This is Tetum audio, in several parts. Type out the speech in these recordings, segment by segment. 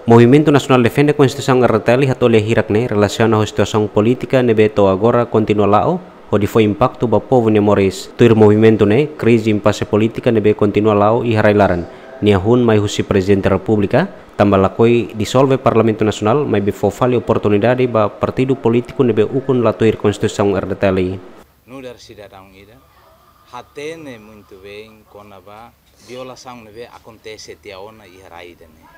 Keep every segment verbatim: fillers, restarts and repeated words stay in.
Movimentu Nasionál Defende Konstituisaun R D T L hato'o lia hirak ne'e relasiona ho situasaun polítika ne'ebé to'o agora kontinua la'o, hodi fó impaktu ba povu nia moris. Tuir movimentu ne'e, krize impase polítika ne'ebé kontinua la'o iha rai-laran, nia hun mai husi Prezidente Repúblika, tanba lakohi disolve Parlamentu Nasionál, maibé fó fali oportunidade ba partidu polítiku ne'ebé ukun la tuir Konstituisaun R D T L. Nu'udar sidadaun ida, hatene muitu bein kona-ba violasaun ne'ebé akontese tiha ona iha rai ida-ne'e.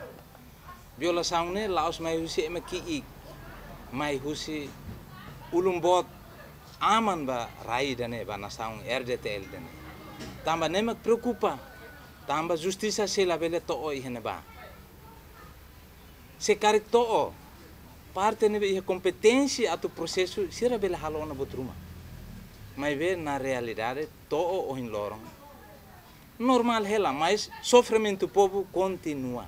Violasaun ne'e la'ós mai husi ema ki'ik, mai husi ulun boot aman ba rai ida-ne'e, ba nasaun R D T L ida-ne'e. Tanba ne'e mak preokupa, tanba justisa sei labele to'o iha ne'ebá. Se karik to'o, parte ne'ebé iha kompeténsia atu prosesu, sira bele halo ona buat ruma. Maibé na realidade to'o ohin loron normál hela, mas sofrimentu povu kontinua.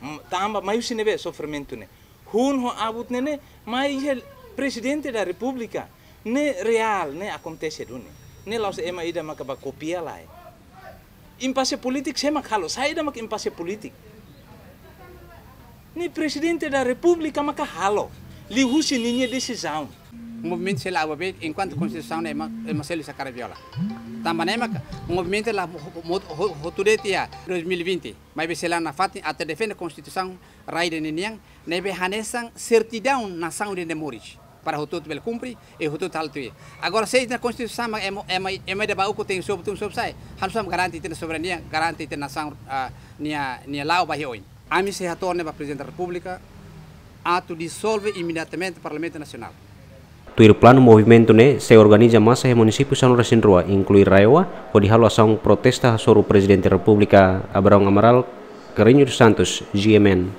M-, tanba mai husi ne'ebé sofrimentu ne'e? Hun ho abut ne'e ne'e, mai iha Prezidente da Repúblika, ne'e reál, ne'e akontese duni. Ne'e la'ós ema ida maka bá kopia lae. Impase polítiku sé mak halo, saida mak impase polítiku? Ne'e Prezidente da Repúblika maka halo, liuhusi ninia desizaun. Movimentu sei la ababe enkuantu Konstituisaun ne'e ema, ema selu sakara viola. Tanba ne'e maka movimentu la ho-, ho-, ho-, hotu de'it iha dois mil e vinte, maibé sei la nafatin atu defende Konstituisaun rai ida-ne'e nian, ne'ebé hanesan sertidaun nasaun ida-ne'e moris. Para hotu-hotu bele kumpre, e hotu-hotu halo tuir. Agora, se ita Konstituisaun mak ema, ema, ema ida bá ukun tenke sobu tun sobu sa'e, halo saida mak garante ita-nia soberania, garante ita-nia nasaun, ah, nia, nia la'o ba iha oin. Ami sei hato'o ne'e ba Prezidente da Repúblika, atu disolve imediatamente Parlamentu Nasionál. Tuir planu movimentu ne'e, sei organiza masa iha munisípiu sanulu-resin-rua, inklui RAEOA, hodi halo asaun protesta hasoru Prezidente Repúblika Abrão Amaral, Carreño dos Santos, G M N.